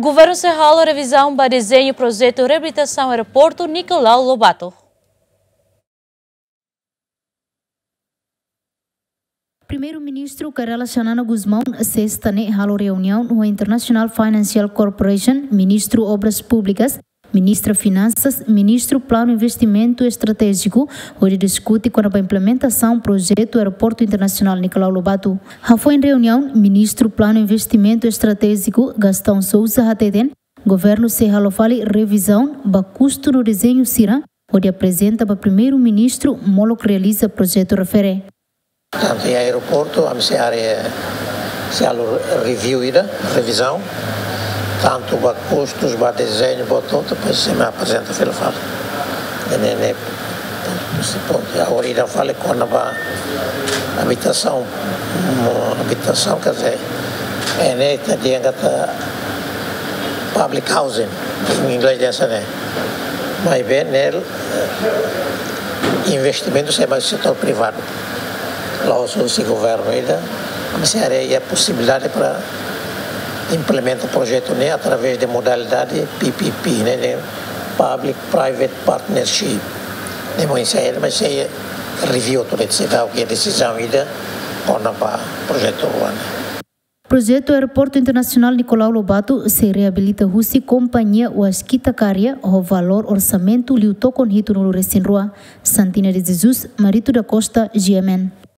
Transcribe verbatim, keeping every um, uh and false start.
Governu sei halo revizaun ba dezeñu projetu reabilitasaun aeroportu Nicolau Lobato. Primeiru-Ministru Kay Rala Xanana Gusmão, sesta ne'e halo reuniaun ho International Financial Corporation, Ministru Obras Públikas, Ministra Finansas, Ministru Planu Investimentu Estratéjiku, hodi diskute kona-ba implementasaun projetu Aeroportu Internasionál Nicolau Lobato. Hafoin reuniaun, Ministru Planu Investimentu Estratéjiku, Gastão Sousa hateten, governu sei halo fali revizaun ba kustu no dezeñu sira, hodi aprezenta ba Primeiru-Ministru molok realiza projetu refere. Tantu iha aeroportu, ami sei halo, sei halo review ida, revizaun, tantu ba kustus, ba dezeñu, ba hotu-hotu, depois sei mai aprezenta fila fali. Ne'e, ne'e, ne'e, pontu, pontu. Agora ida fali kona-ba abitasaun, mo-, abitasaun, quer dizer, ne'e ita dehan katak public housing, em inglês dehan hanesan ne'e. Maibé ne'e, eh, investimentu sei mai setór privadu. La'ós husi governu ida, ami sei haree iha posibilidade para implementa projetu ne'e através de modalidade P P P, ne'e, ne'e Public Private Partnership. Ne'e mós sei, mas sei review atu, sei dau ke desizaun ida kona-ba projetu rua ne'e. Projetu Aeroportu Internasionál Nicolau Lobato sei reabilita husi kompañia Waskita Karya ho valór orsamentu liu tokon hitunulu resin rua. Santina de Jesus, Marito da Costa, G M N.